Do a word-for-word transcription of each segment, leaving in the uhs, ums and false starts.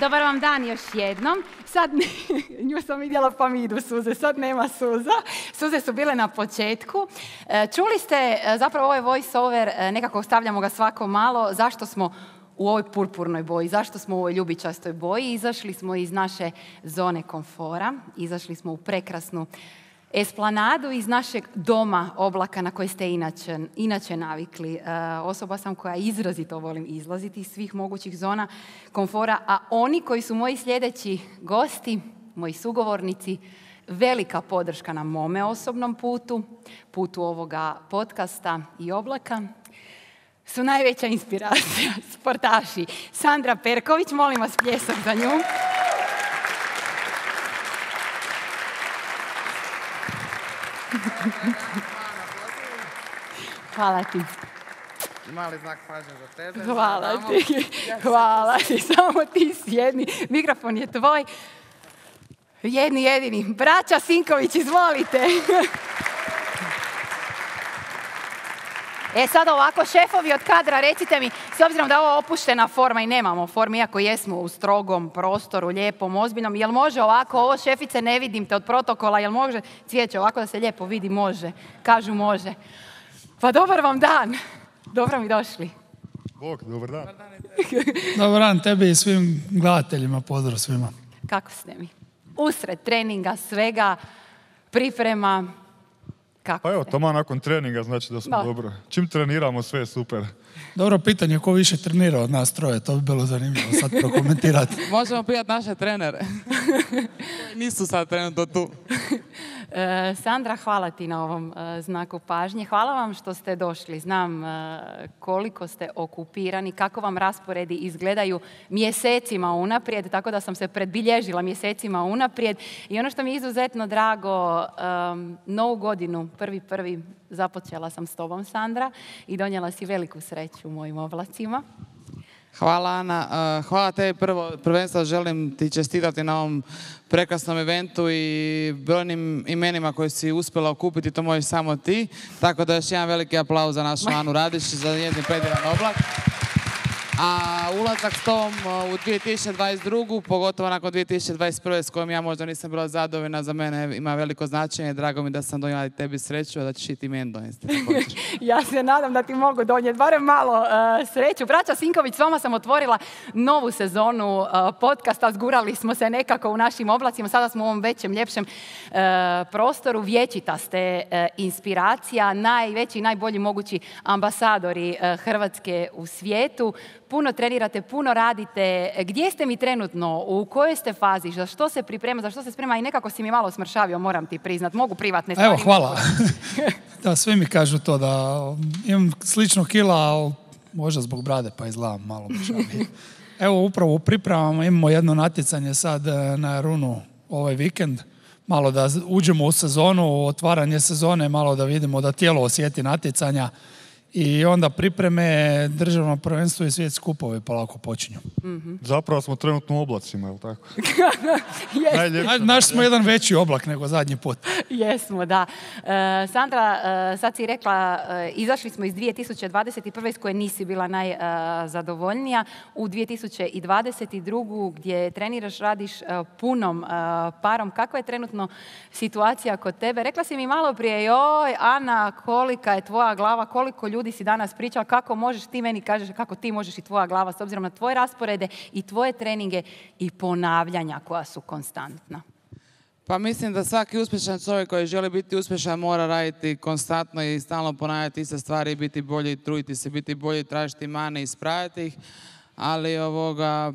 Dobar vam dan još jednom. Sad, nju sam vidjela pa mi idu suze, sad nema suza. Suze su bile na početku. Čuli ste, zapravo ovaj voice over, nekako stavljamo ga svako malo, zašto smo u ovoj purpurnoj boji, zašto smo u ovoj ljubičastoj boji. Izašli smo iz naše zone komfora, izašli smo u prekrasnu esplanadu iz našeg doma oblaka na koji ste inače, inače navikli. E, osoba sam koja izrazito volim izlaziti iz svih mogućih zona komfora, a oni koji su moji sljedeći gosti, moji sugovornici, velika podrška na mome osobnom putu, putu ovoga podcasta i oblaka, su najveća inspiracija, sportaši. Sandra Perković, molim vas pljesak za nju. Hvala ti. Mali znak pažnje za tebe. Hvala ti. Hvala ti. Samo ti sjedni. Mikrofon je tvoj. Jedni jedini. Braća Sinković, izvolite. E sad ovako, šefovi od kadra, recite mi, s obzirom da je ovo opuštena forma i nemamo formu, iako jesmo u strogom prostoru, lijepom, ozbiljnom, jel može ovako, ovo šefice ne vidim te od protokola, jel može cvijeće ovako da se lijepo vidi? Može. Kažu može. Pa dobar vam dan. Dobro mi došli. Bog, dobar dan. Dobar dan tebi i svim gledateljima, pozdrav svima. Kako ste mi? Usred treninga, svega, priprema. Kako Pa evo, ste? tamo nakon treninga znači da smo No. dobro. Čim treniramo, sve je super. Dobro pitanje, ko više trenira od nas troje, to bi bilo zanimljivo sad prokomentirati. Možemo pitati naše trenere. Koji nisu sad trenutno tu. E, Sandra, hvala ti na ovom e, znaku pažnje. Hvala vam što ste došli. Znam e, koliko ste okupirani, kako vam rasporedi izgledaju mjesecima unaprijed, tako da sam se predbilježila mjesecima unaprijed. I ono što mi je izuzetno drago, e, novu godinu, prvi prvi, započela sam s tobom, Sandra, i donijela si veliku sreću u mojim oblacima. Hvala, Ana. Uh, hvala tebi prvo. Prvenstvo želim ti čestitati na ovom prekrasnom eventu i brojnim imenima koje si uspjela okupiti, to možeš samo ti. Tako da još jedan veliki aplauz za našu Anu Radić, za njezin predivan oblak. A ulazak s tom u dvije tisuće dvadeset drugu, pogotovo nakon dvije tisuće dvadeset prve s kojom ja možda nisam bila zadovoljna, za mene ima veliko značenje. Drago mi da sam donijela i tebi sreću, a da ćeš i ti meni donijeti. Ja se nadam da ti mogu donijeti barem malo uh, sreću. Braća Sinković, s vama sam otvorila novu sezonu uh, podcasta. Zgurali smo se nekako u našim oblacima. Sada smo u ovom većem, ljepšem uh, prostoru. Vječita ste uh, inspiracija, najveći i najbolji mogući ambasadori uh, Hrvatske u svijetu. Puno trenirate, puno radite. Gdje ste mi trenutno? U kojoj ste fazi? Za što se priprema? Za što se sprema? I nekako si mi malo smršavio, moram ti priznat. Mogu privatne stvari. Evo, hvala. Da, svi mi kažu to da imam slično kila, ali možda zbog brade pa izgledam malo mršavije. Evo, upravo u pripremama imamo jedno natjecanje sad na Runu ovaj vikend. Malo da uđemo u sezonu, otvaranje sezone, malo da vidimo da tijelo osjeti natjecanja. I onda pripreme, državno prvenstvo i svjetski kupovi polako počinju. Mm-hmm. Zapravo smo trenutno u oblacima, je li tako? Na, naš smo jedan veći oblak nego zadnji put. Jesmo, da. E, Sandra, e, sad si rekla, e, izašli smo iz dvije tisuće dvadeset prve iz koje nisi bila najzadovoljnija, u dvije tisuće dvadeset drugu gdje treniraš, radiš e, punom e, parom. Kakva je trenutno situacija kod tebe? Rekla si mi malo prije, joj, Ana, kolika je tvoja glava, koliko ljudi si danas pričala, kako možeš, ti meni kažeš kako ti možeš i tvoja glava s obzirom na tvoje rasporede i tvoje treninge i ponavljanja koja su konstantna. Pa mislim da svaki uspješan čovjek koji želi biti uspješan mora raditi konstantno i stalno ponavljati iste stvari, biti bolji, truditi se, biti bolji, tražiti mane i ispraviti ih. Ali ovoga,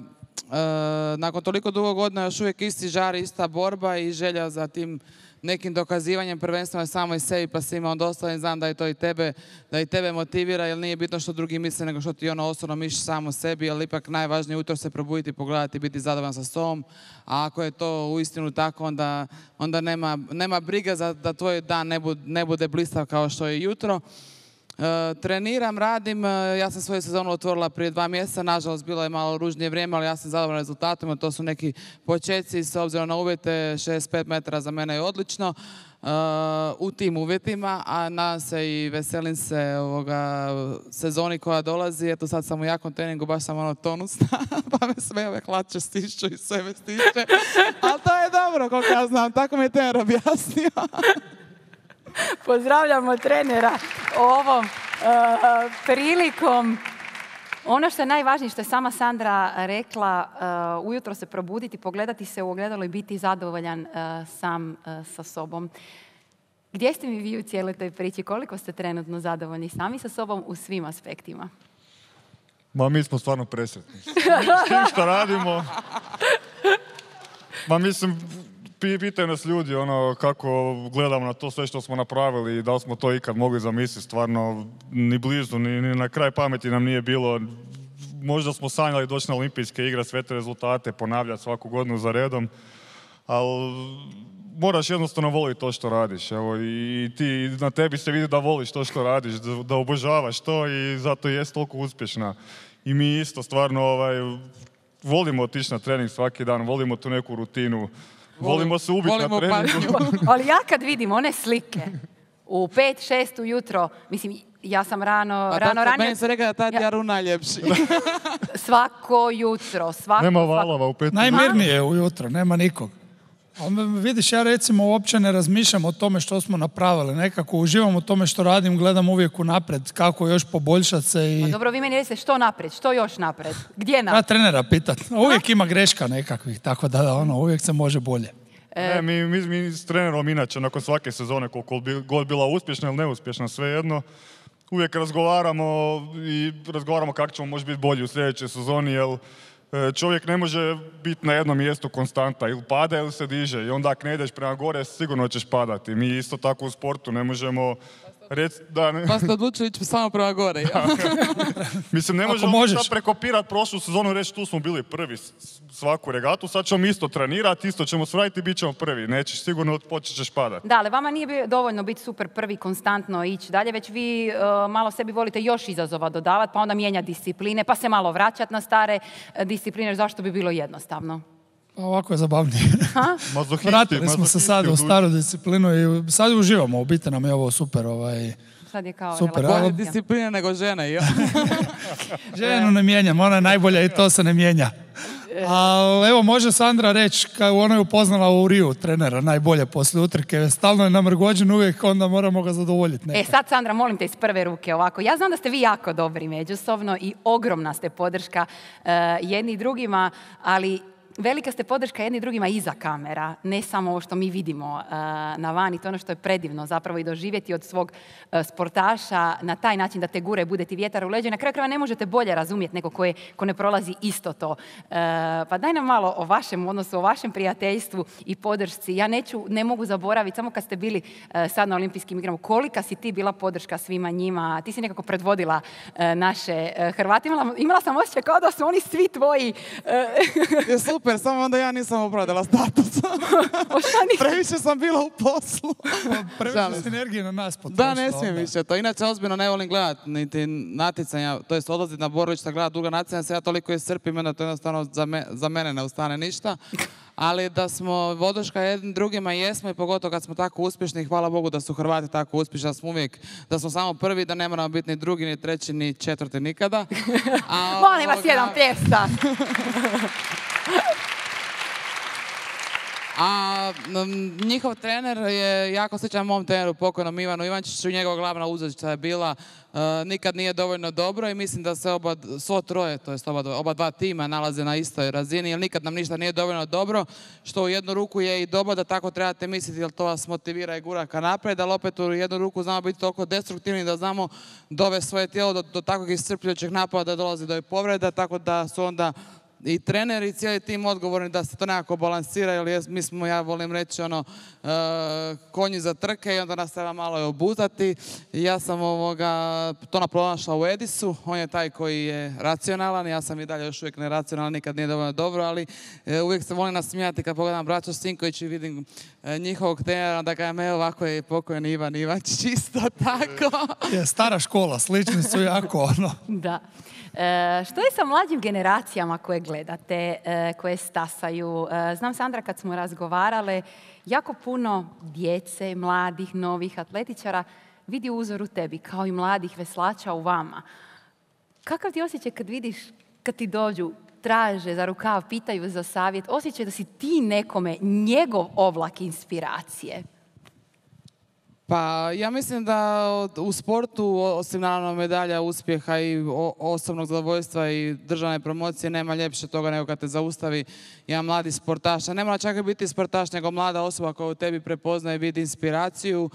e, nakon toliko dugo godina još uvijek isti žar, ista borba i želja za tim nekim dokazivanjem prvenstveno samo i sebi pa svima onda ostalim, znam da je to i tebe, da i tebe motivira, jer nije bitno što drugi misle nego što ti ono osobno misliš samo sebi, ali ipak najvažnije ujutro se probuditi, pogledati, biti zadovoljan sa sobom, a ako je to uistinu tako, onda, onda nema, nema briga za, da tvoj dan ne bude, ne bude blistav kao što je jutro. E, treniram, radim, e, ja sam svoju sezonu otvorila prije dva mjeseca, nažalost bilo je malo ružnije vrijeme, ali ja sam zadovoljna rezultatima, to su neki početci s obzirom na uvjete, šezdeset pet metara za mene je odlično. Uh, u tim uvjetima, a nadam se i veselim se ovoga sezoni koja dolazi. Eto sad sam u jakom treningu, baš sam ono tonusna, pa me sve ove hlače stišću i sve me stišće. Ali to je dobro, koliko ja znam, tako mi je trener objasnio. Pozdravljamo trenera ovom uh, prilikom. Ono što je najvažnije, što je sama Sandra rekla, uh, ujutro se probuditi, pogledati se u ogledalo i biti zadovoljan uh, sam uh, sa sobom. Gdje ste mi vi u cijeloj toj priči? Koliko ste trenutno zadovoljni sami sa sobom u svim aspektima? Ma mi smo stvarno presretni. S tim što radimo. Ma mislim, pitaju nas ljudi ono kako gledamo na to sve što smo napravili i da li smo to ikad mogli zamisliti. Stvarno ni blizu, ni, ni na kraj pameti nam nije bilo. Možda smo sanjali doći na olimpijske igre, sve te rezultate ponavljati svaku godinu za redom, ali moraš jednostavno voliti to što radiš. Evo, i ti, na tebi se vidi da voliš to što radiš, da, da obožavaš to i zato jest toliko uspješna. I mi isto stvarno ovaj, volimo otići na trening svaki dan, volimo tu neku rutinu, volimo se ubiti na treningu. Ali ja kad vidim one slike u pet, šest ujutro, mislim, ja sam rano, a rano ranije... Meni se rekao da tad Jaru najljepši. Svako jutro, svako... Nema valova u pet. Najmirnije je ujutro, nema nikog. Vidiš, ja recimo uopće ne razmišljam o tome što smo napravili. Nekako uživam u tome što radim, gledam uvijek unaprijed kako još poboljšati se. I... Pa dobro, vi meni recite što naprijed, što još naprijed? Gdje naprijed? Ja trenera pitat. Uvijek ima greška nekakvih, tako da ono, uvijek se može bolje. Ne, mi, mi, mi s trenerom inače, nakon svake sezone, koliko bi god bila uspješna ili neuspješna, svejedno, uvijek razgovaramo i razgovaramo kako ćemo možda biti bolji u sljedećoj sezoni, jer čovjek ne može biti na jednom mjestu konstanta, ili pada ili se diže i onda ako ne ideš prema gore sigurno ćeš padati. Mi isto tako u sportu ne možemo reći da... Ne... Pa ste odlučili ići samo prema gore. Ja. Mislim, ne možemo sad prekopirati prošlu sezonu i reći tu smo bili prvi svaku regatu, sad ćemo isto trenirati, isto ćemo sraditi i bit ćemo prvi. Nećeš sigurno, počet ćeš padati. Da, ali vama nije dovoljno biti super prvi, konstantno ići dalje, već vi uh, malo sebi volite još izazova dodavati, pa onda mijenjati discipline, pa se malo vraćati na stare uh, discipline, zašto bi bilo jednostavno? Ovako je zabavnije. Mazohisti, Vratili smo se sad u staru disciplinu i sad uživamo, u biti nam je ovo super. Ovaj, sad je kao super. Bolje disciplina nego žene. Ja. Ženu ne mijenjam, ona je najbolja i to se ne mijenja. Ali evo, može Sandra reći, kao ona je upoznala u Riju trenera najbolje poslije utrke, stalno je namrgođen uvijek, onda moramo ga zadovoljiti. Nekad. E sad, Sandra, molim te iz prve ruke ovako. Ja znam da ste vi jako dobri međusobno i ogromna ste podrška uh, jedni drugima, ali velika ste podrška jedni drugima iza kamera, ne samo ovo što mi vidimo uh, na van i to ono što je predivno zapravo i doživjeti od svog uh, sportaša na taj način da te gure, bude ti vjetar u leđu. Na kraju krajeva ne možete bolje razumjeti neko ko, je, ko ne prolazi isto to. Uh, pa daj nam malo o vašem odnosu, o vašem prijateljstvu i podršci. Ja neću, ne mogu zaboraviti, samo kad ste bili uh, sad na olimpijskim igrama, kolika si ti bila podrška svima njima. Ti si nekako predvodila uh, naše uh, Hrvate. Imala, imala sam osjećaj kao da su oni svi tvoji. Uh, je super. Samo onda ja nisam opravdala status. Previše sam bila u poslu. Previše sinergije na nas potrošila. Da, ne smijem više to. Inače, ozbiljno ne volim gledati niti natjecanja, to jest odlaziti na borilišta, gledati druga natjecanja, se ja toliko iscrpim, da to jednostavno za, me, za mene ne ustane ništa. Ali da smo voduška jednim drugima jesmo i pogotovo kad smo tako uspješni, hvala Bogu da su Hrvati tako uspješni, da smo uvijek, da smo samo prvi, da ne moramo biti ni drugi, ni treći, ni četvrti nikada. A, molim vas, jedan pljesak. A njihov trener je jako sličan mom treneru, pokojnom Ivanu Ivančiću, njegova glavna uzrečica je bila uh, nikad nije dovoljno dobro i mislim da se oba, svo troje, to jest oba, oba dva tima nalaze na istoj razini, jer nikad nam ništa nije dovoljno dobro, što u jednu ruku je i dobro da tako trebate misliti, jer to vas motivira i gura ka naprijed, ali opet u jednu ruku znamo biti toliko destruktivni da znamo dovesti svoje tijelo do, do takvog iscrpljujućeg napada da dolazi do povreda, tako da su onda i trener i cijeli tim odgovorni da se to nekako balansira, jer mi smo, ja volim reći, ono, uh, konji za trke i onda nas treba malo je obuzati. I ja sam ovoga, to pronašla u Edisu, on je taj koji je racionalan, ja sam i dalje još uvijek neracionalan, nikad nije dovoljno dobro, ali uh, uvijek se volim nasmijati kad pogledam braću Sinković i vidim uh, njihovog trenera, da kažem, evo ovako je pokojni Ivan Ivač, čisto tako. Je stara škola, slični su jako, ono. Da. E, što je sa mlađim generacijama koje gledate, e, koje stasaju? E, znam, Sandra, kad smo razgovarale, jako puno djece, mladih, novih atletičara vidi uzor u tebi, kao i mladih veslača u vama. Kakav ti osjećaj kad vidiš, kad ti dođu, traže za rukav, pitaju za savjet, osjećaj da si ti nekome njegov ovlak inspiracije? Pa ja mislim da u sportu, osim naravno medalja, uspjeha i osobnog zadovoljstva i državne promocije, nema ljepše toga nego kad te zaustavi jedan mladi sportaš. A ne mora čak i biti sportaš, nego mlada osoba koja u tebi prepoznaje, vidi inspiraciju.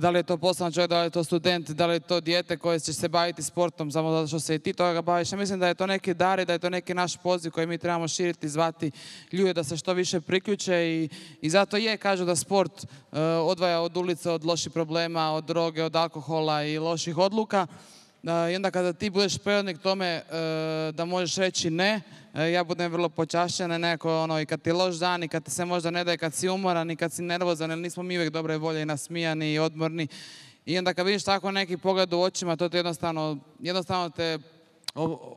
Da li je to poslovni čovjek, da li je to student, da li je to dijete koje će se baviti sportom samo zato što se i ti toga baviš. Ja mislim da je to neki dar i da je to neki naš poziv koji mi trebamo širiti, zvati ljude da se što više priključe i, i zato je, kažu da sport uh, odvaja od ulice, od loših problema, od droge, od alkohola i loših odluka. Uh, I onda kada ti budeš predvodnik tome uh, da možeš reći ne, uh, ja budem vrlo počašćena, nekako ono, i kad ti je loš dan, i kad ti se možda ne daje, kad si umoran, i kad si nervozan, jer nismo mi uvijek dobre volje i nasmijani i odmorni. I onda kad vidiš tako neki pogled u očima, to te jednostavno, jednostavno te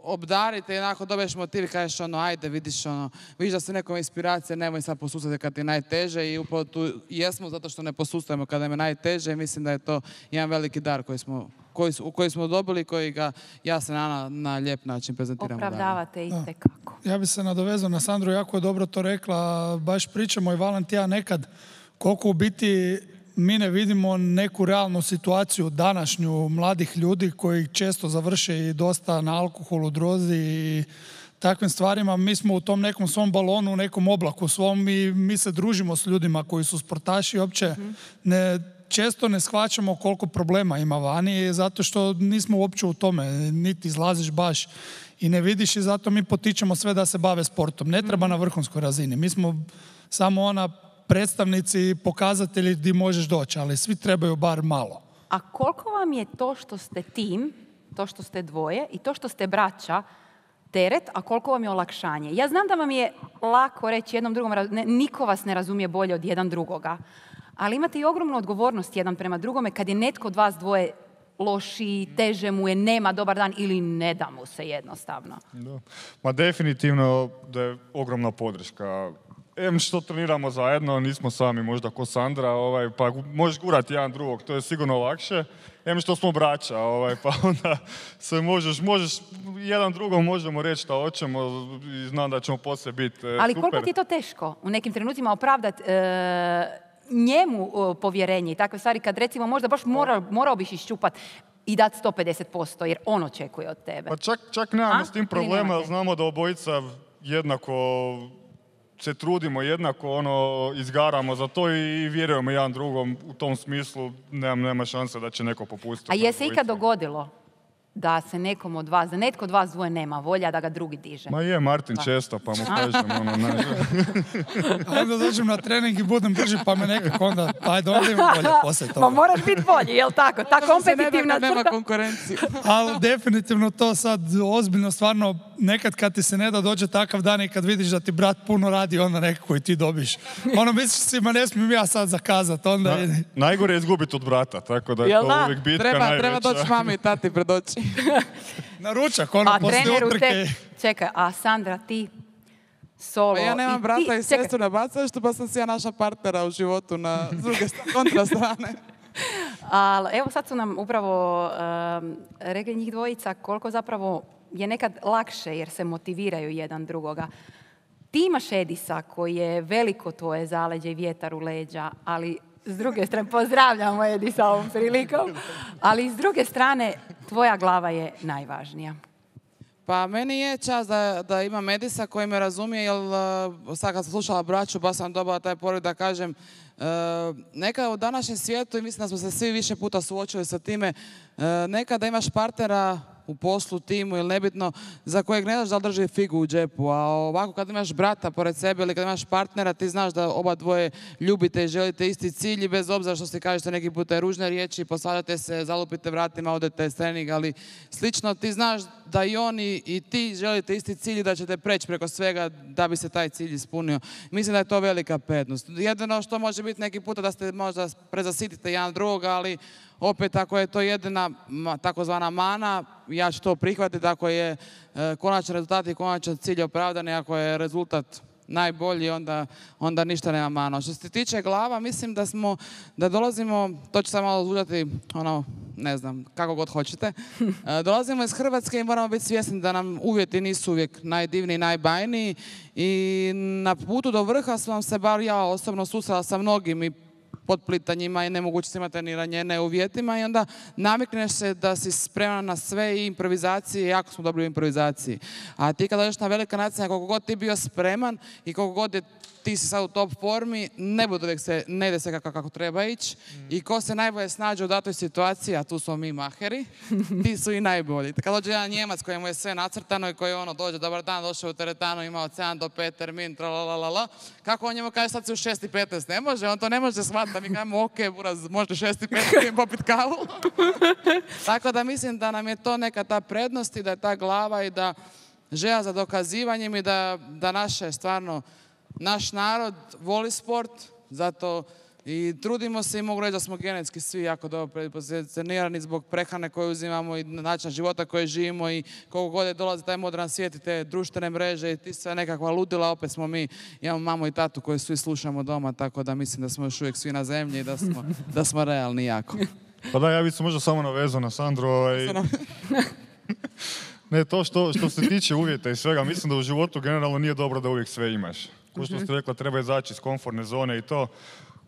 obdarite i onako dobiješ motiv i kažeš ono, ajde, vidiš ono, vidiš da se nekom inspiracija, nemoj sad posustati kad ti je najteže i upravo tu jesmo zato što ne posustajemo kada je najteže i mislim da je to jedan veliki dar koji smo, koji, koji smo dobili, koji ga ja se na, na lijep način prezentiram. Opravdavate itekako. Ja bi se nadovezao na Sandru, jako je dobro to rekla, baš pričamo i Valentija nekad koliko u biti mi ne vidimo neku realnu situaciju današnju mladih ljudi koji često završe i dosta na alkoholu, drozi i takvim stvarima. Mi smo u tom nekom svom balonu, u nekom oblaku svom i mi se družimo s ljudima koji su sportaši. Uopće mm-hmm. ne, često ne shvaćamo koliko problema ima vani zato što nismo uopće u tome, niti izlaziš baš i ne vidiš i zato mi potičemo sve da se bave sportom. Ne treba mm-hmm. na vrhunskoj razini. Mi smo samo ona predstavnici, pokazatelji gdje možeš doći, ali svi trebaju bar malo. A koliko vam je to što ste tim, to što ste dvoje i to što ste braća teret, a koliko vam je olakšanje? Ja znam da vam je lako reći jednom drugom, ne, niko vas ne razumije bolje od jedan drugoga, ali imate i ogromnu odgovornost jedan prema drugome kad je netko od vas dvoje loši, teže mu je, nema dobar dan ili ne da mu se jednostavno. Da. Ma definitivno da je ogromna podrška. Em što treniramo zajedno, nismo sami možda ko Sandra, ovaj, pa možeš gurati jedan drugog, to je sigurno lakše. Em što smo braća, ovaj, pa onda se možeš, možeš jedan drugom možemo reći šta hoćemo i znam da ćemo poslije biti e, Ali super. koliko ti je to teško u nekim trenucima opravdati e, njemu o, povjerenje i takve stvari kad recimo možda baš mora, morao biš iščupati i dati sto pedeset posto jer on očekuje od tebe. Pa čak, čak nemamo s tim problema, jer znamo da obojica jednako se trudimo, jednako ono, izgaramo za to i vjerujemo jedan drugom u tom smislu, nema, nema šanse da će neko popustiti. A je se ikad dogodilo da se nekom od vas, da netko od vas dvoje nema volja, da ga drugi diže? Ma je, Martin pa. često, pa mu kažem, ono, ne. Onda dođem na trening i budem brži, pa me nekako onda, ajde, onda imam volja poslije toga. Ma moraš biti bolji, jel tako? Ta kompetitivna crta. Nema konkurenciju. Ali definitivno to sad ozbiljno, stvarno, nekad kad ti se ne da dođe takav dan i kad vidiš da ti brat puno radi, onda nekako i ti dobiš. Ono, misliš si, ma ne smijem ja sad zakazat, onda... Na, najgore je izgubiti od brata, tako da je jel to da? uvijek bitka treba, najveća. Treba doći mami i tati pred oči. Na ručak, ono, poslije utrke. Te... Čekaj, a Sandra, ti solo... Pa ja nemam i brata ti... i sestru na bacalištu, pa sam si ja naša partnera u životu na druge kontra strane. Ali evo sad su nam upravo um, rekli njih dvojica koliko zapravo je nekad lakše jer se motiviraju jedan drugoga. Ti imaš Edisa koji je veliko tvoje zaleđe i vjetar u leđa, ali s druge strane, pozdravljamo Edisa ovom prilikom, ali s druge strane tvoja glava je najvažnija. Pa meni je čast da, da imam Edisa koji me razumije, jer uh, sad kad sam slušala braću, baš sam dobila taj poruk da kažem uh, neka u današnjem svijetu, i mislim da smo se svi više puta suočili sa time, uh, nekada imaš partnera u poslu, timu ili nebitno, za kojeg ne znaš da li drži figu u džepu. A ovako kad imaš brata pored sebe ili kad imaš partnera, ti znaš da oba dvoje ljubite i želite isti cilj i bez obzira što si kažete neki puta ružne riječi, posvađate se, zalupite vratima, odete s treninga, ali slično ti znaš da i oni i ti želite isti cilj i da ćete preći preko svega da bi se taj cilj ispunio. Mislim da je to velika prednost. Jedino što može biti neki puta da ste možda prezasitite jedan drugog, ali opet ako je to jedina takozvana mana, ja ću to prihvatiti ako je e, konačan rezultat i konačan cilj opravdan i ako je rezultat najbolji, onda, onda ništa nema mano. Što se tiče glava, mislim da smo, da dolazimo, to ću sad malo zvučati, ono, ne znam, kako god hoćete, e, dolazimo iz Hrvatske i moramo biti svjesni da nam uvjeti nisu uvijek najdivniji, najbajniji i na putu do vrha sam se, bar ja osobno, susrela sa mnogim i potplitanjima i nemogućnostima treniranja ne uvjetima i onda navikneš se da si spreman na sve i improvizacije, jako smo dobri u improvizaciji. A ti kad dođeš na velika natjecanja, koliko god ti bio spreman i koliko god je, ti si sad u top formi, ne bude uvijek se, ne ide se kako, kako treba ići. Mm. I ko se najbolje snađe u datoj situaciji, a tu smo mi maheri, ti su i najbolji. Kad dođe jedan Njemac kojemu je sve nacrtano i koji ono dođe, dobar dan, došao u teretanu, ima od sedam do pet termin, tralalala, kako on njemu kaže sad si u šest i petnaest, ne može, on to ne može shvatiti, mi kažemo ok, buraz, možete šest i petnaest popit kavu. Tako da mislim da nam je to neka ta prednost i da je ta glava i da želja za dokazivanjem i da, da naše stvarno naš narod voli sport, zato i trudimo se i mogu reći da smo genetski svi jako dobro predispozicionirani zbog prehrane koju uzimamo i načina života koje živimo i koliko god je dolazi taj modern svijet i te društvene mreže i ti sve nekakva ludila, opet smo mi, imamo mamu i tatu koju svi slušamo doma, tako da mislim da smo još uvijek svi na zemlji i da smo, da smo realni jako. Pa da, ja bih se možda samo navezao na Sandru. Ovaj... ne, to što, što se tiče uvjeta i svega, mislim da u životu generalno nije dobro da uvijek sve imaš. Ko što ste rekla, treba izaći iz komfortne zone i to.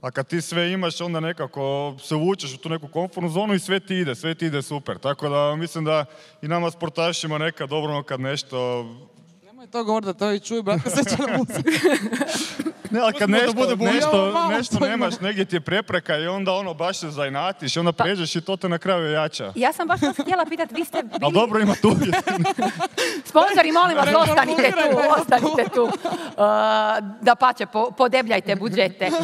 A kad ti sve imaš, onda nekako se uvučeš u tu neku komfortnu zonu i sve ti ide, sve ti ide super. Tako da mislim da i nama sportašima nekad dobro kad nešto... Nemoj to govor da to i čuj, brate, se će nam uzeti. Ne, ali kad nešto, nešto, nešto nemaš, negdje ti je prepreka i onda ono baš se zainatiš i onda pređeš i to te na kraju jača. Ja sam baš to htjela pitati, vi ste bili... Ali dobro ima tu uvijek. Sponzori, molim vas, ostanite tu, ostanite tu. Uh, da pače, po, podebljajte budžete. Uh,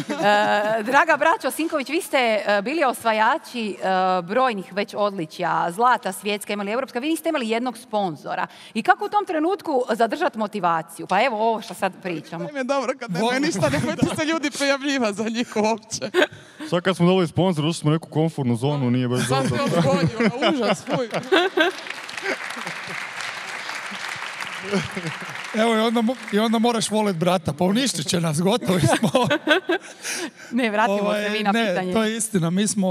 draga braćo Sinković, vi ste uh, bili osvajači uh, brojnih već odličja, zlata svjetska, imali evropska, vi niste imali jednog sponzora. I kako u tom trenutku zadržati motivaciju? Pa evo ovo što sad pričamo. Im je dobro kad nemaju ništa, nemojte se ljudi prijavljiva za njih uopće. Sad kad smo dobili sponsor, ušli smo u neku komfortnu zonu, nije baš dobro. Sad se odgodio, užas, fuj. Evo i onda, i onda moraš volit brata, pa uništit će nas, gotovi smo. Ne, vratimo ovaj, se vi na ne, pitanje. Ne, to je istina. Mi smo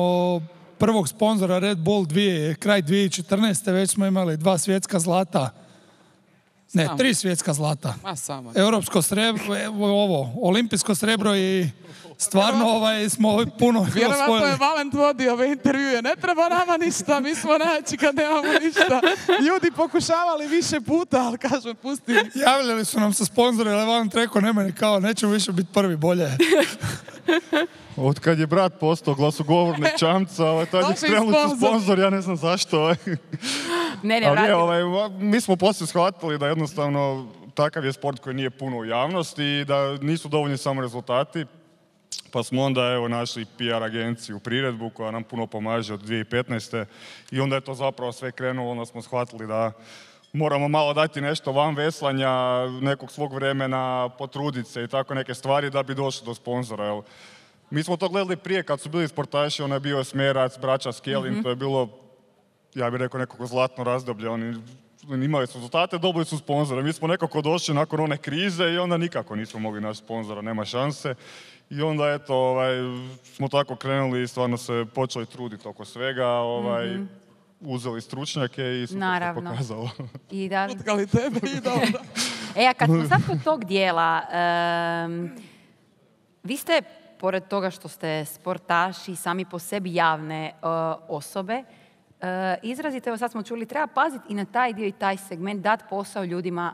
prvog sponzora Red Bull dvije, kraj dvije tisuće četrnaeste. već smo imali dva svjetska zlata. Ne, samo. tri svjetska zlata. Ma samo. Europsko srebro, ovo, olimpijsko srebro i stvarno ovaj, smo puno osvojili. Vjerovatno je Valent vodio ove intervjue. Ne treba nama ništa, mi smo najjači kad nemamo ništa. Ljudi pokušavali više puta, ali kažem, pusti. Javljali su nam se sponzori, ali Valent rekao, nema ni kao, nećemo više biti prvi, bolje. Od kad je brat postao glasogovornik Čamca, ovaj, tad je krenuli su sponzor, ja ne znam zašto. Ovaj. Ne, ne, ali je, ovaj, mi smo poslije shvatili da jednostavno takav je sport koji nije puno u javnosti i da nisu dovoljni samo rezultati. Pa smo onda evo našli P R agenciju Priredbu koja nam puno pomaže od dvije tisuće petnaeste. I onda je to zapravo sve krenulo, onda smo shvatili da moramo malo dati nešto van veslanja, nekog svog vremena, potruditi se i tako neke stvari da bi došli do sponzora. Jel? Mi smo to gledali prije kad su bili sportaši, on je bio Smerac, braća Skelin, mm-hmm. to je bilo, ja bih rekao, nekako zlatno razdoblje. Oni imali su rezultate, dobili su sponzora. Mi smo nekako došli nakon one krize i onda nikako nismo mogli naći sponzora, nema šanse. I onda eto, ovaj, smo tako krenuli i stvarno se počeli truditi oko svega, ovaj, mm-hmm. uzeli stručnjake i super se pokazalo. I da... Utkali tebe i dobro. E, a kad smo sad kod tog dijela, um, vi ste, pored toga što ste sportaši, sami po sebi javne uh, osobe, uh, izrazite, evo sad smo čuli, treba paziti i na taj dio i taj segment, dati posao ljudima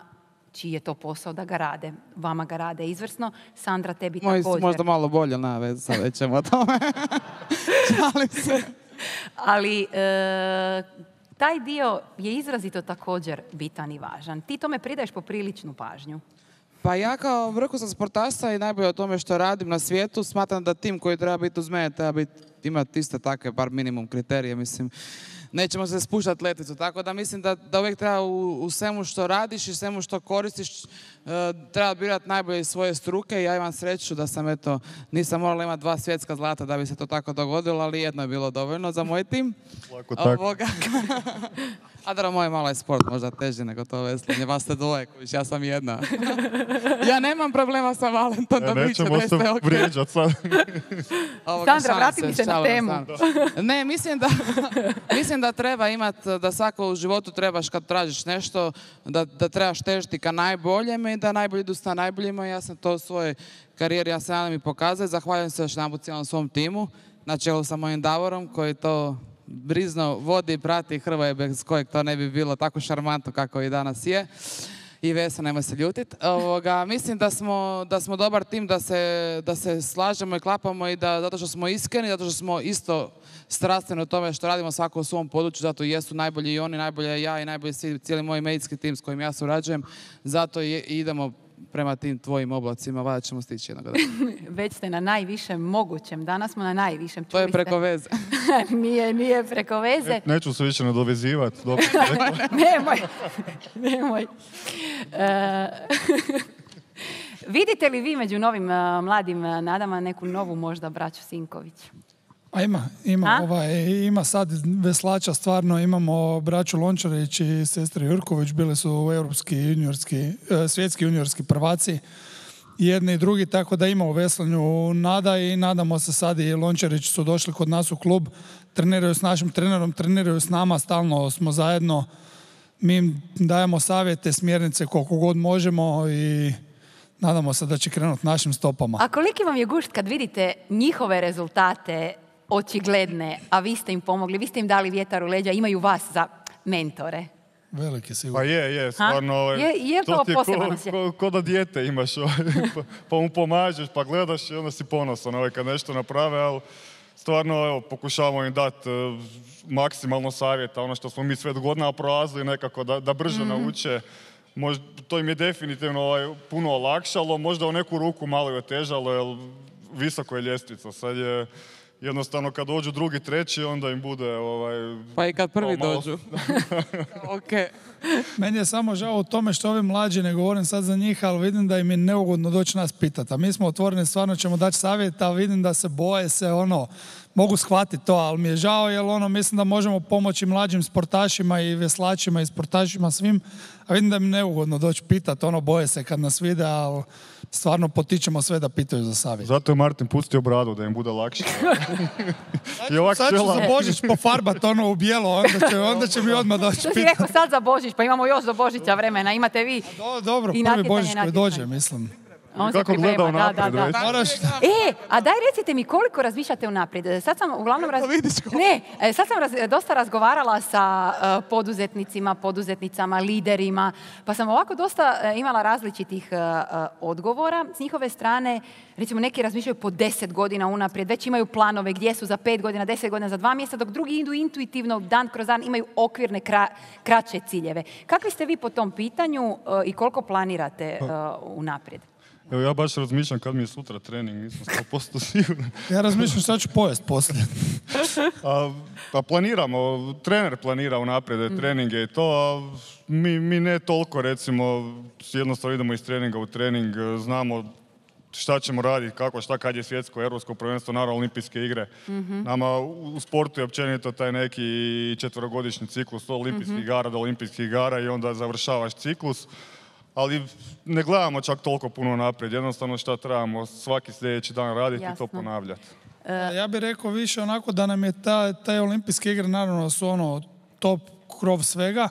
čiji je to posao da ga rade. Vama ga rade izvrsno. Sandra, tebi Moj, također. Možda malo bolje na vez, sad već ćemo o tome. Šalim se. Ali, e, taj dio je izrazito također bitan i važan. Ti tome pridaješ popriličnu pažnju. Pa ja kao vrhunski sportaša i najbolje o tome što radim na svijetu, smatram da tim koji treba biti uz mene treba biti, imati iste takve, bar minimum kriterije, mislim. Nećemo se spuštati leticu, tako da mislim da, da uvijek treba u, u svemu što radiš i svemu što koristiš uh, treba birati najbolje iz svoje struke. Ja imam sreću da sam, eto, nisam morala imati dva svjetska zlata da bi se to tako dogodilo, ali jedno je bilo dovoljno za moj tim. Lako tako. Ovoga. A da, moj malo je sport, možda teži nego to veslanje. Vas ste dvoje, kojiš, ja sam jedna. Ja nemam problema sa Valentom da E, biće nećemo da se ste ok. vrijeđat sad. Ovoga, Sandra, šalim vrati mi se na šalim temu. Ne, mislim da, mislim da treba imati, da svako u životu trebaš kad tražiš nešto, da, da trebaš težiti ka najboljem i da najbolji idu sa najboljima. Ja sam to u svojoj karijeri, ja se nadam i pokazati. Zahvaljujem se još jedanput cijelom svom timu, na čelu sa mojim Davorom, koji to brizno vodi i prati Hrvoje, bez kojeg to ne bi bilo tako šarmantno kako i danas je. I Vesa, nemoj se ljutit. Ovoga, mislim da smo, da smo dobar tim, da se, da se slažemo i klapamo i da zato što smo iskreni, zato što smo isto strastveni u tome što radimo svako u svom području, zato i jesu najbolji i oni, najbolje ja i najbolji svi, cijeli moj medicinski tim s kojim ja surađujem, zato i idemo prema tim tvojim oblacima, valjda ćemo stići jednog dana. Već ste na najvišem mogućem. Danas smo na najvišem. To je Čuli ste? preko veze. nije, nije preko veze. Neću se više nadovezivati. Dobro, Nemoj. Nemoj. E, vidite li vi među novim uh, mladim uh, nadama neku novu možda braću Sinković? A ima, ima, A? ovaj, ima sad veslača, stvarno imamo braću Lončarić i sestre Jurković, bili su europski juniorski, eh, svjetski juniorski prvaci, jedni i drugi, tako da ima u veslanju nada i nadamo se sad i Lončarić su došli kod nas u klub, treniraju s našim trenerom, treniraju s nama, stalno smo zajedno, mi im dajemo savjete, smjernice koliko god možemo i nadamo se da će krenuti našim stopama. A koliki vam je gušt kad vidite njihove rezultate očigledne, a vi ste im pomogli, vi ste im dali vjetar u leđa, imaju vas za mentore? Veliki sigurno. Pa je, je, stvarno. Ovaj, Je- je to ti je poseban ko, osjećaj? ko, ko da dijete imaš, ovaj, pa, pa mu pomažeš, pa gledaš i onda si ponosan ovaj, kad nešto naprave, ali stvarno evo, pokušavamo im dati uh, maksimalno savjeta, ono što smo mi sve godina prolazili nekako da, da brže Mhm. nauče. Možda, to im je definitivno ovaj, puno olakšalo, možda u neku ruku malo je otežalo, jer visoko je ljestvica. Sad je jednostavno kad dođu drugi, treći, onda im bude ovaj... Pa i kad prvi malo- dođu. Ok. Meni je samo žao u tome što ovi mlađi, ne govorim sad za njih, ali vidim da im je neugodno doći nas pitati. A mi smo otvoreni, stvarno ćemo dati savjet, ali vidim da se boje se, ono, mogu shvatiti to, ali mi je žao jer ono, mislim da možemo pomoći mlađim sportašima i veslačima i sportašima svim, a vidim da im je neugodno doći pitati, ono, boje se kad nas vide, ali stvarno potičemo sve da pitaju za savjet. Zato je Martin pustio bradu, da im bude lakše. I ovak Sad ću čela- za Božić pofarbat ono u bijelo, onda će, onda će mi odmah doći Što si pitati. rekao sad za Božić, pa imamo još do Božića vremena, imate vi. Do, dobro, I prvi natjecanje, Božić koji natjecanje. dođe, mislim. On se Kako priprema, gleda da, unaprijed da, da. već. Moraš... E, a daj recite mi koliko razmišljate unaprijed. Sad sam uglavnom raz... Ne, e, sad sam raz- dosta razgovarala sa e, poduzetnicima, poduzetnicama, liderima, pa sam ovako dosta e, imala različitih e, e, odgovora s njihove strane. Recimo neki razmišljaju po deset godina unaprijed, već imaju planove gdje su za pet godina, deset godina, za dva mjeseca, dok drugi idu intuitivno, dan kroz dan, imaju okvirne kra- kraće ciljeve. Kakvi ste vi po tom pitanju e, i koliko planirate e, unaprijed? Evo ja baš razmišljam kad mi je sutra trening, nisam sto posto siguran. Ja razmišljam šta ću pojest poslije. A, pa planiramo, trener planira unaprijed treninge i to, a mi, mi ne toliko recimo, jednostavno idemo iz treninga u trening, znamo šta ćemo raditi, kako, šta, kad je svjetsko, europsko prvenstvo, naravno olimpijske igre. Nama u u sportu je općenito taj neki četverogodišnji ciklus od olimpijskih igara do olimpijskih igara i onda završavaš ciklus. Ali ne gledamo čak toliko puno naprijed, jednostavno šta trebamo svaki sljedeći dan raditi i to Jasno. ponavljati. Ja bih rekao više onako da nam je ta, taj olimpijske igre naravno su ono top krov svega.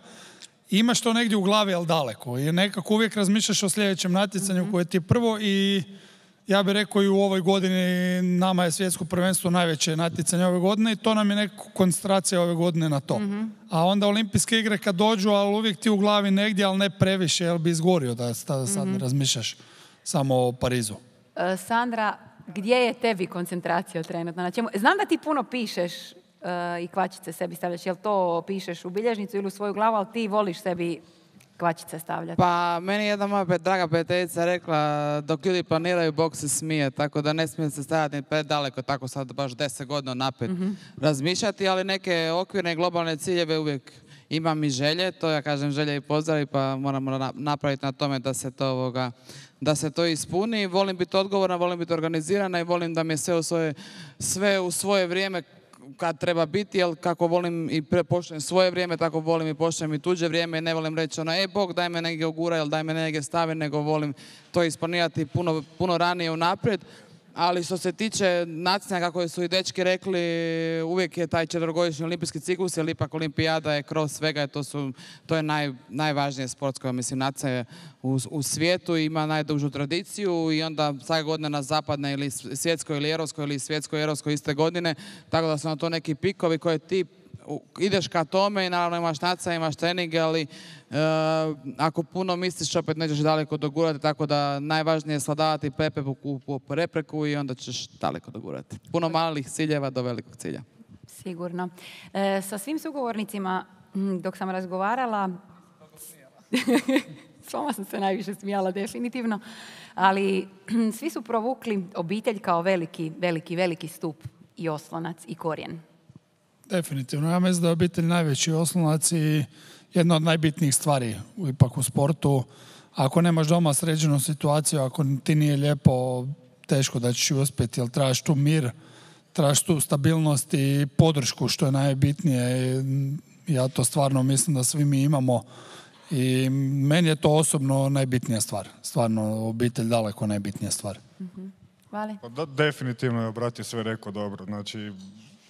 Imaš to negdje u glavi, ali daleko. I nekako uvijek razmišljaš o sljedećem natjecanju koje ti je prvo i ja bih rekao i u ovoj godini nama je svjetsko prvenstvo najveće natjecanje ove godine i to nam je neka koncentracija ove godine na to. A onda olimpijske igre kad dođu, ali uvijek ti u glavi negdje, ali ne previše, jer bi izgorio da sad, sad razmišljaš samo o Parizu. E, Sandra, gdje je tebi koncentracija trenutno? Na čemu? Znam da ti puno pišeš, i kvačice sebi stavljaš? Jel to pišeš u bilježnicu ili u svoju glavu, ali ti voliš sebi kvačice stavljati? Pa, meni je jedna moja pe- draga prijateljica rekla, dok ljudi planiraju, Bog se smije, tako da ne smije se stavljati predaleko, tako sad baš deset godina naprijed razmišljati, ali neke okvirne i globalne ciljeve uvijek imam i želje, to ja kažem želje i pozdravi, pa moramo na- napraviti na tome da se to ovoga, da se to ispuni. Volim biti odgovorna, volim biti organizirana i volim da mi je sve u svoje, sve u svoje vrijeme kad treba biti, jer kako volim i pre- poštujem svoje vrijeme, tako volim i poštujem i tuđe vrijeme i ne volim reći ono, e Bog daj me negdje ugura ili daj me negdje stavi, nego volim to isplanirati puno, puno ranije unaprijed. Ali što se tiče natjecanja, kako su i dečki rekli, uvijek je taj četverogodišnji olimpijski ciklus, jer ipak olimpijada je kroz svega, to, su, to je naj, najvažnije sportsko, mislim, natjecanje u, u svijetu, ima najdužu tradiciju i onda svake godine na zapadne ili svjetskoj ili europskoj ili svjetskoj i europskoj iste godine, tako da su na to neki pikovi koje ti u- ideš ka tome i naravno imaš natjecanje, imaš treninge, ali e, ako puno misliš opet nećeš daleko dogurati, tako da najvažnije je svladavati prepreku po prepreku i onda ćeš daleko dogurati. Puno malih ciljeva do velikog cilja. Sigurno. E, sa svim sugovornicima, m, dok sam razgovarala, s vama sam se najviše smijala definitivno, ali svi su provukli obitelj kao veliki, veliki, veliki stup i oslonac i korijen. Definitivno. Ja mislim da je obitelj najveći oslonac i jedna od najbitnijih stvari u- ipak u sportu. Ako nemaš doma sređenu situaciju, ako ti nije lijepo, teško da ćeš uspjeti, jer trebaš tu mir, trebaš tu stabilnost i podršku, što je najbitnije. I ja to stvarno mislim da svi mi imamo i meni je to osobno najbitnija stvar. Stvarno, obitelj daleko najbitnija stvar. Vali? Pa da, definitivno je brat je sve rekao dobro. Znači,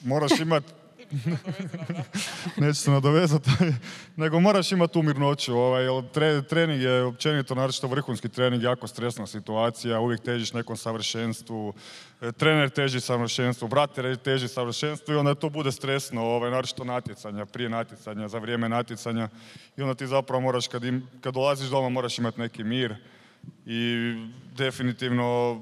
moraš imati... Neću se nadovezati, nego moraš imati tu mirnoću. Ovaj, jer tre- trening je općenito, naročito vrhunski trening, jako stresna situacija, uvijek težiš nekom savršenstvu, e, trener teži savršenstvu, brat te- teži savršenstvu i onda to bude stresno, ovaj, naročito natjecanja, prije natjecanja, za vrijeme natjecanja i onda ti zapravo moraš, kad, im, kad dolaziš doma, moraš imati neki mir i definitivno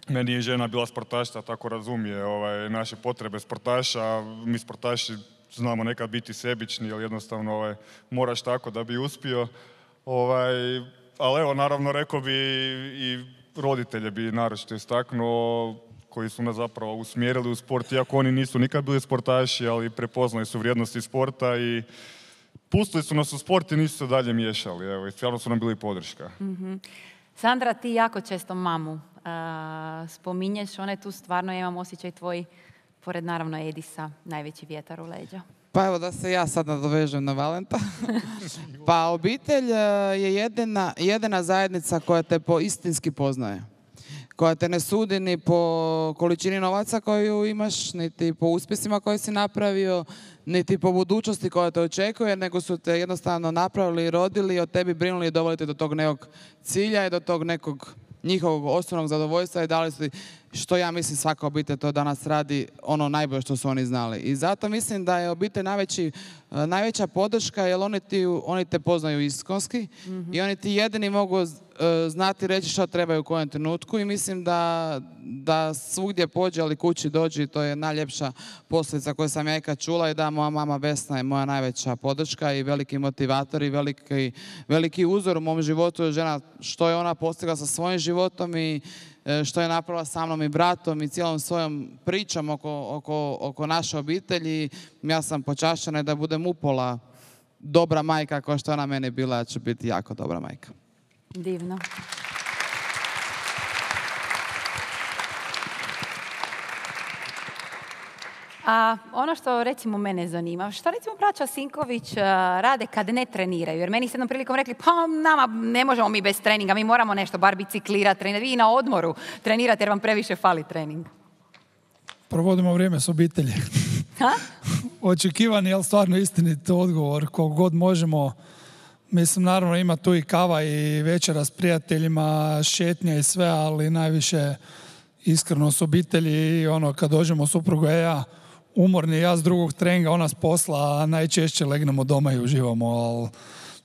meni je žena bila sportašica, tako razumije ovaj, naše potrebe sportaša. Mi sportaši znamo nekad biti sebični, jer jednostavno ovaj, moraš tako da bi uspio. Ovaj, ali evo, naravno, rekao bi i roditelje bi naročito istaknuo, koji su nas zapravo usmjerili u sport, iako oni nisu nikad bili sportaši, ali prepoznali su vrijednosti sporta i pustili su nas u sport i nisu se dalje miješali. Evo, i stvarno su nam bili podrška. Sandra, ti jako često mamu a, spominješ, ona je tu stvarno, ja imam osjećaj tvoj, pored naravno Edisa, najveći vjetar u leđa. Pa evo da se ja sad nadovežem na Valenta. Pa obitelj e, je jedina, jedina zajednica koja te po istinski poznaje. Koja te ne sudi ni po količini novaca koju imaš, niti po uspjesima koje si napravio, niti po budućnosti koja te očekuje, nego su te jednostavno napravili i rodili i o tebi brinuli i doveli te do tog nekog cilja i do tog nekog njihovog osnovnog zadovoljstva i dali su ti, što ja mislim svaka obitelj to danas radi, ono najbolje što su oni znali. I zato mislim da je obitelj najveći, e, najveća podrška, jer oni, ti, oni te poznaju iskonski i oni ti jedini mogu e, znati reći što trebaju u kojem trenutku i mislim da, da svugdje pođe, ali kući dođi, to je najljepša posljedica koju sam ja ikad čula i da moja mama Vesna je moja najveća podrška i veliki motivator i veliki, veliki uzor u mom životu je žena, što je ona postigla sa svojim životom i e, što je napravila sa mnom i bratom i cijelom svojom pričom oko, oko, oko naše obitelji. Ja sam počašćena da budem upola dobra majka kao što je ona meni bila, ja ću biti jako dobra majka. Divno. A ono što recimo mene zanima, što recimo braća Sinković uh, rade kad ne treniraju? Jer meni se jednom prilikom rekli, pa nama ne možemo mi bez treninga, mi moramo nešto, bar biciklirati, trenirati. Vi na odmoru trenirate jer vam previše fali trening. Provodimo vrijeme s obitelji. Ha? Očekivani, ali stvarno istinit odgovor, koliko god možemo. Mislim, naravno ima tu i kava i večera s prijateljima, šetnja i sve, ali najviše iskreno s obitelji i ono kad dođemo supruga i ja umorni, ja s drugog treninga, ona s posla, a najčešće legnemo doma i uživamo, ali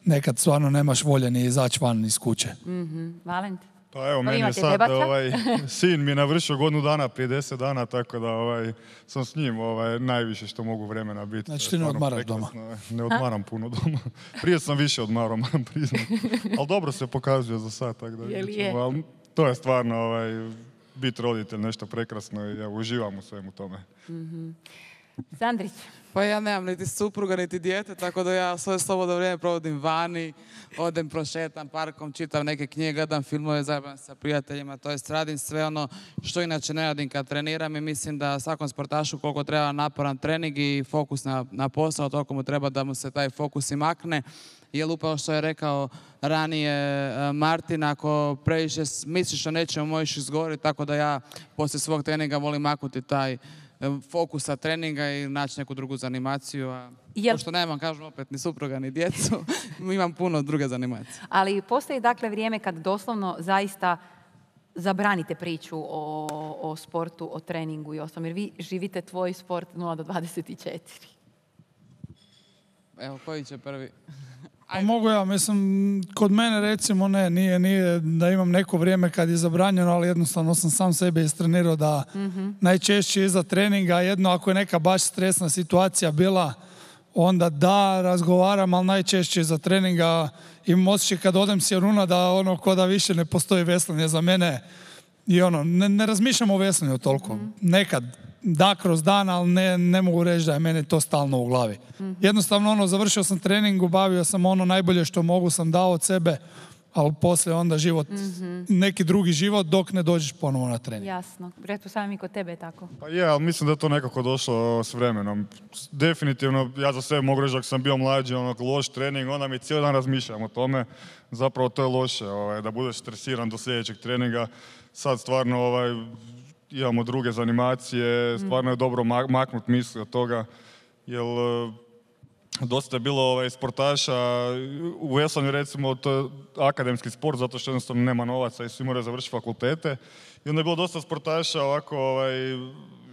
nekad stvarno nemaš volje ni izaći van iz kuće. Mm-hmm. Valent? Pa evo, Pa meni je imate sad, debaca? ovaj, sin mi je navršio godinu dana prije deset dana, tako da ovaj, sam s njim ovaj, najviše što mogu vremena biti. Znači To je ti ne stvarno odmaraš doma? prekrasno. Ne odmaram puno doma. Prije sam više odmarao, moram priznati. Ali dobro se pokazuje za sad, tako da Je li vidjet ćemo. je? Ali to je stvarno ovaj, biti roditelj nešto prekrasno i ja uživam u svemu tome. Sandrić, Pa ja nemam niti supruga, niti dijete, tako da ja svoje slobodno vrijeme provodim vani, odem prošetam parkom, čitam neke knjige, gledam filmove, zajedno sa prijateljima, to jest radim sve ono što inače ne radim kad treniram i mislim da svakom sportašu koliko treba naporan trening i fokus na, na posao, toliko mu treba da mu se taj fokus i makne. Jer upravo što je rekao ranije e, Martin, ako previše s- misliš o nečemu možeš izgoriti, tako da ja poslije svog treninga volim maknuti taj e, fokus sa treninga i naći neku drugu zanimaciju. A Jel- pošto nemam, kažem opet, ni supruga ni djecu, imam puno druge zanimacije. ali postoji dakle vrijeme kad doslovno zaista zabranite priču o, o sportu, o treningu i ostalom, jer vi živite tvoj sport nula do dvadeset četiri. Evo, koji će prvi? Pa mogu ja, mislim, kod mene recimo ne, nije, nije da imam neko vrijeme kad je zabranjeno, ali jednostavno sam sam sebe istrenirao da najčešće iza treninga, jedno ako je neka baš stresna situacija bila, onda da, razgovaram, ali najčešće iza treninga imam osjećaj kad odem s Jaruna da ono ko da više ne postoji veslanje za mene i ono, ne, ne razmišljam o veslanju toliko. Nekad da kroz dan, ali ne, ne mogu reći da je meni to stalno u glavi. Jednostavno ono, završio sam trening, obavio sam ono najbolje što mogu, sam dao od sebe, ali poslije onda život, neki drugi život dok ne dođeš ponovo na trening. Jasno. Pretpostavljam i kod tebe je tako. Pa je, ali mislim da je to nekako došlo s vremenom. Definitivno, ja za sebe mogu reći da sam bio mlađi, ono, loš trening, onda mi cijeli dan razmišljam o tome. Zapravo to je loše, ovaj, da budeš stresiran do sljedećeg treninga. Sad stvarno ovaj, imamo druge zanimacije, stvarno je dobro ma- maknut misli od toga, jer eh, dosta je bilo ovaj, sportaša, u veslanju recimo to je akademski sport zato što jednostavno nema novaca i svi moraju završiti fakultete. I onda je bilo dosta sportaša ovako, ovaj,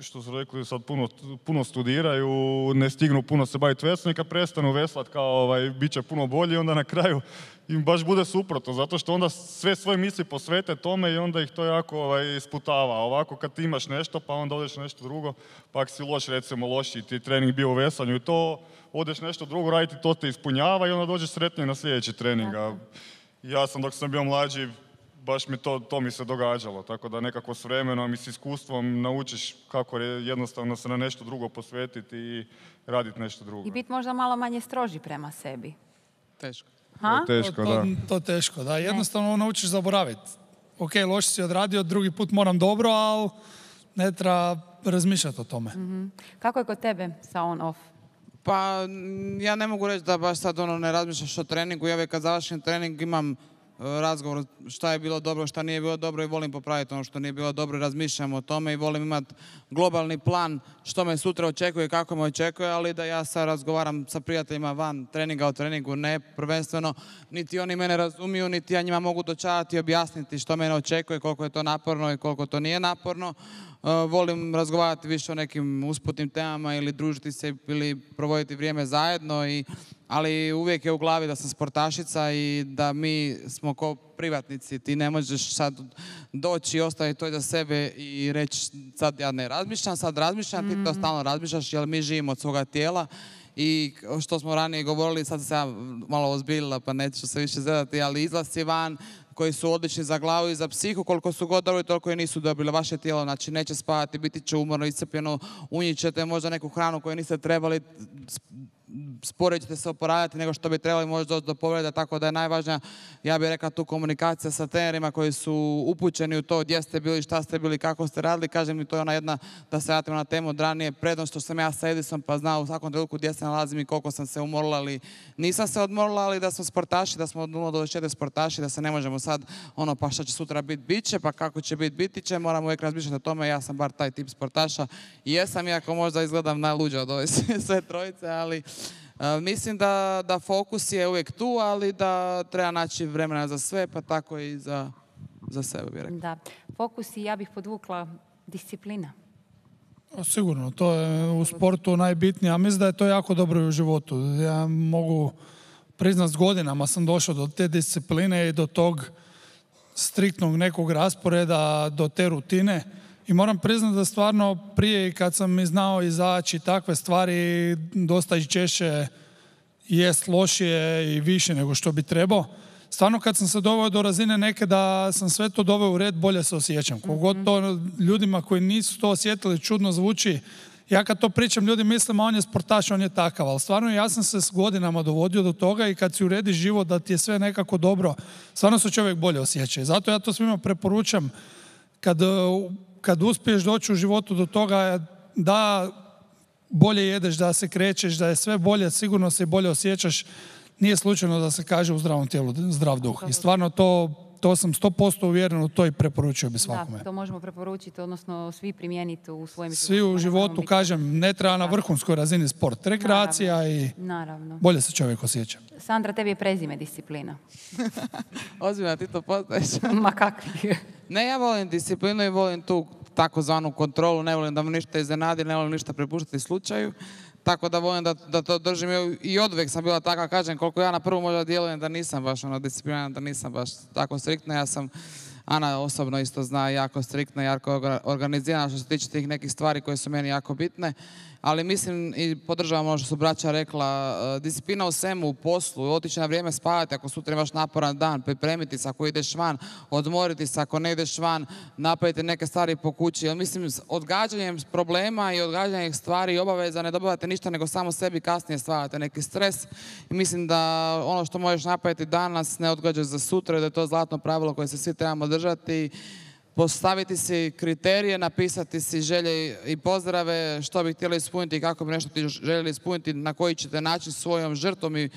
što su rekli, sad puno, puno studiraju, ne stignu puno se baviti veslanjem, kad prestanu veslat kao ovaj, bit će puno bolji, onda na kraju im baš bude suprotno, zato što onda sve svoje misli posvete tome i onda ih to jako ovaj, sputava. Ovako kad ti imaš nešto pa onda odeš nešto drugo, pa ako si loš, recimo loši ti trening bio u veslanju i to, odeš nešto drugo raditi, to te ispunjava i onda dođeš sretnije na sljedeći trening. A ja sam dok sam bio mlađi, baš mi to, to mi se događalo, tako da nekako s vremenom i s iskustvom naučiš kako je jednostavno se na nešto drugo posvetiti i raditi nešto drugo. I biti možda malo manje stroži prema sebi. Teško. Ha? Teško, to, da. to teško, da. Jednostavno naučiš zaboraviti. Ok, loš si odradio, drugi put moram dobro, ali ne treba razmišljati o tome. Kako je kod tebe sa on-off? Pa mm, ja ne mogu reći da baš sad ono ne razmišljaš o treningu. Ja uvijek kad završim trening imam e, razgovor šta je bilo dobro, šta nije bilo dobro i volim popraviti ono što nije bilo dobro i razmišljam o tome i volim imati globalni plan što me sutra očekuje i kako me očekuje, ali da ja sad razgovaram sa prijateljima van treninga o treningu, ne prvenstveno, niti oni mene razumiju, niti ja njima mogu dočarati i objasniti što mene očekuje, koliko je to naporno i koliko to nije naporno. Uh, volim razgovarati više o nekim usputnim temama ili družiti se ili provoditi vrijeme zajedno, i, ali uvijek je u glavi da sam sportašica i da mi smo ko privatnici. Ti ne možeš sad doći i ostaviti to za sebe i reći sad ja ne razmišljam, sad razmišljam, ti to stalno razmišljaš jer mi živimo od svoga tijela. I što smo ranije govorili, sad sam se ja malo ozbiljila pa neću se više zadati, ali izlasci van koji su odlični za glavu i za psihu, koliko su god dobri, toliko i nisu dobili. Vaše tijelo, znači, neće spavati, biti će umorno, iscrpljeno, unijet ćete možda neku hranu koju niste trebali, sporije ćete se oporavljati nego što bi trebali, možda doći do povreda, tako da je najvažnija, ja bih rekla, tu komunikacija sa trenerima koji su upućeni u to gdje ste bili, šta ste bili, kako ste radili. Kažem mi, to je ona jedna, da se vratimo na temu od ranije, prednost što sam ja sa Edisom pa znao u svakom trenutku gdje se nalazim i koliko sam se umorila, ali nisam se odmorila, ali da smo sportaši, da smo od nula do dvadeset četiri sportaši, da se ne možemo sad ono pa šta će sutra biti, bit će, pa kako će biti, biti će, moramo uvijek razmišljati o tome. Ja sam bar taj tip sportaša i jesam, iako možda izgledam najluđe od ove sve trojice, ali uh, mislim da, da fokus je uvijek tu, ali da treba naći vremena za sve, pa tako i za, za sebe, bih rekla. Da. Fokus i ja bih podvukla disciplina. O, Sigurno, to je u sportu najbitnije, a mislim da je to jako dobro i u životu. Ja mogu priznat s godinama sam došao do te discipline i do tog striktnog nekog rasporeda do te rutine. I moram priznati da stvarno prije kad sam i znao izaći takve stvari dosta i češće jest lošije i više nego što bi trebao. Stvarno kad sam se doveo do razine neke da sam sve to doveo u red, bolje se osjećam. Kogod to ljudima koji nisu to osjetili čudno zvuči, ja kad to pričam, ljudi mislim, a on je sportaš, on je takav, ali stvarno ja sam se s godinama dovodio do toga i kad si uredi život da ti je sve nekako dobro, stvarno se čovjek bolje osjeća. Zato ja to svima preporučam, kad, kad uspiješ doći u životu do toga da bolje jedeš, da se krećeš, da je sve bolje, sigurno se bolje osjećaš, nije slučajno da se kaže u zdravom tijelu zdrav duh. I stvarno to, to sam sto posto uvjeren u to i preporučio bi svakome. Da, to možemo preporučiti, odnosno svi primijeniti u svojim životima. Svi u životu, kažem, ne treba na vrhunskoj razini sport. Rekreacija naravno, i naravno. Bolje se čovjek osjeća. Sandra, tebi je prezime disciplina. Ozbiljno, ti to poznaješ. Ma kakvi? Ne, ja volim disciplinu i volim tu takozvanu kontrolu, ne volim da me ništa iznenadi, ne volim ništa prepuštati slučaju. Tako da volim da, da to držim i oduvijek sam bila taka, kažem, koliko ja na prvu možda djelujem da nisam baš ono discipliniran, da nisam baš tako striktna. Ja sam, Ana osobno isto zna, jako striktna, jako organizirana što se tiče tih nekih stvari koje su meni jako bitne. Ali mislim i podržavam ono što su braća rekla, disciplina u svemu, u poslu, otići na vrijeme spavati ako sutra imaš naporan dan, pripremiti se ako ideš van, odmoriti se ako ne ideš van, napraviti neke stvari po kući. Jer mislim, s odgađanjem problema i odgađanjem stvari i obaveza ne dobivate ništa nego samo sebi kasnije stvarate neki stres. I mislim da ono što možeš napraviti danas ne odgađaš za sutra, da je to zlatno pravilo koje se svi trebamo držati. Postaviti si kriterije, napisati si želje i pozdrave, što bi htjeli ispuniti i kako bi nešto ti željeli ispuniti, na koji ćete način svojom žrtvom i,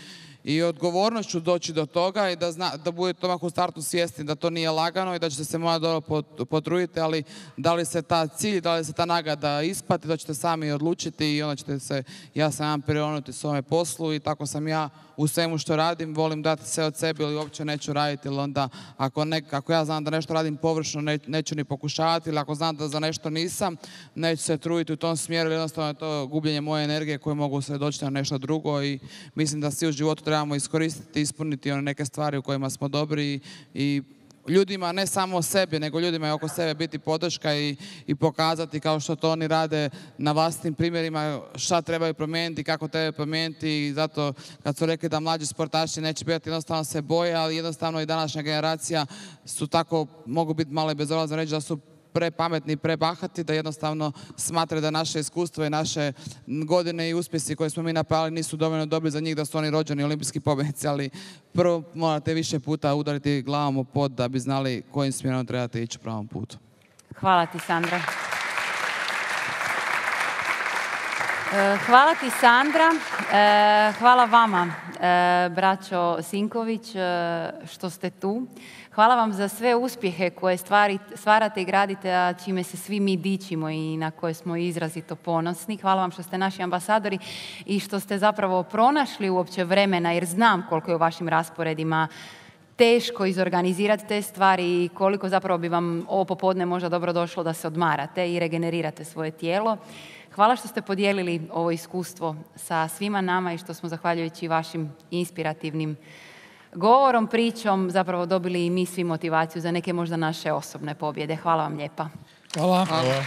i odgovornošću doći do toga i da, zna, da budete odmah u startu svjesni da to nije lagano i da ćete se morati dobro potruditi, ali da li se ta cilj, da li se ta nagrada isplati, da ćete sami odlučiti i onda ćete se, ja sam jedan prionuti svome poslu i tako sam ja u svemu što radim, volim dati sve od sebe ili uopće neću raditi, ili onda ako, ne, ako ja znam da nešto radim površno, ne, neću ni pokušavati, ili ako znam da za nešto nisam, neću se truditi u tom smjeru, ili jednostavno je to gubljenje moje energije koje mogu se doći na nešto drugo i mislim da svi u životu trebamo iskoristiti, ispuniti one neke stvari u kojima smo dobri i ljudima, ne samo sebi, nego ljudima i oko sebe biti podrška i, i pokazati kao što to oni rade na vlastnim primjerima šta trebaju promijeniti, kako trebaju promijeniti i zato kad su rekli da mlađi sportaši neće biti, jednostavno se boje, ali jednostavno i današnja generacija su tako, mogu biti malo i bezobrazno reći da su prepametni i prebahati, da jednostavno smatraju da naše iskustvo i naše godine i uspjesi koje smo mi napravili nisu dovoljno dobri za njih, da su oni rođeni olimpijski pobjednici, ali prvo morate više puta udariti glavom u pod da bi znali kojim smjerom trebate ići u pravom putu. Hvala ti, Sandra. Hvala ti, Sandra. Hvala vama, braćo Sinković, što ste tu. Hvala vam za sve uspjehe koje stvari, stvarate i gradite, a čime se svi mi dičimo i na koje smo izrazito ponosni. Hvala vam što ste naši ambasadori i što ste zapravo pronašli uopće vremena, jer znam koliko je u vašim rasporedima teško izorganizirati te stvari i koliko zapravo bi vam ovo popodne možda dobro došlo da se odmarate i regenerirate svoje tijelo. Hvala što ste podijelili ovo iskustvo sa svima nama i što smo, zahvaljujući vašim inspirativnim govorom, pričom, zapravo dobili i mi svi motivaciju za neke možda naše osobne pobjede. Hvala vam lijepa. Hvala. Hvala. Hvala.